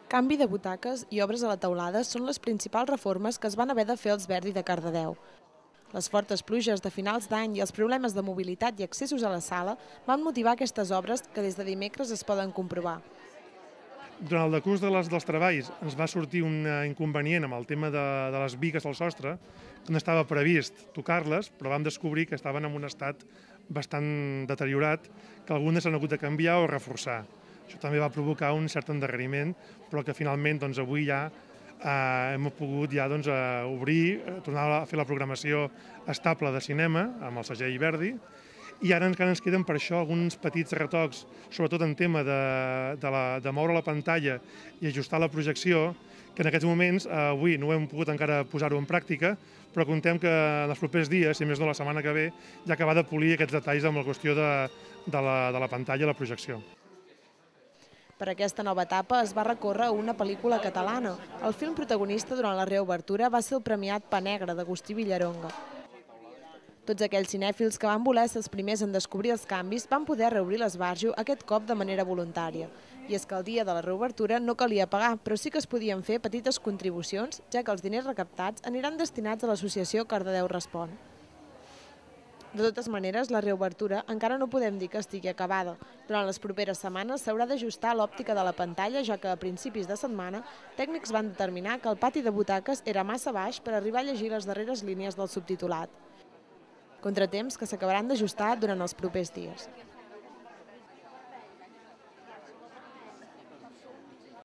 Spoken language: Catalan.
Canvi de butaques i obres a la teulada són les principals reformes que es van haver de fer als Verdi de Cardedeu. Les fortes pluges de finals d'any i els problemes de mobilitat i accessos a la sala van motivar aquestes obres que des de dimecres es poden comprovar. Durant el decurs dels treballs ens va sortir un inconvenient amb el tema de les bigues al sostre, que no estava previst tocar-les, però vam descobrir que estaven en un estat bastant deteriorat, que algunes s'han hagut de canviar o reforçar. Això també va provocar un cert endarreriment, però que finalment avui ja hem pogut obrir, tornar a fer la programació estable de cinema amb el segell Verdi, i ara encara ens queden per això alguns petits retocs, sobretot en tema de moure la pantalla i ajustar la projecció, que en aquests moments avui no hem pogut encara posar-ho en pràctica, però contem que en els propers dies, si més no la setmana que ve, ja acabar de polir aquests detalls amb la qüestió de la pantalla i la projecció. Per aquesta nova etapa es va recórrer a una pel·lícula catalana. El film protagonista durant la reobertura va ser el premiat Pa Negre d'Agustí Villaronga. Tots aquells cinèfils que van voler ser els primers en descobrir els canvis van poder reobrir l'esbarjo aquest cop de manera voluntària. I és que el dia de la reobertura no calia pagar, però sí que es podien fer petites contribucions, ja que els diners recaptats aniran destinats a l'associació Cardedeu Respon. De totes maneres, la reobertura encara no podem dir que estigui acabada. Durant les properes setmanes s'haurà d'ajustar l'òptica de la pantalla, ja que a principis de setmana tècnics van determinar que el pati de butaques era massa baix per arribar a llegir les darreres línies del subtitulat. Contratemps que s'acabaran d'ajustar durant els propers dies.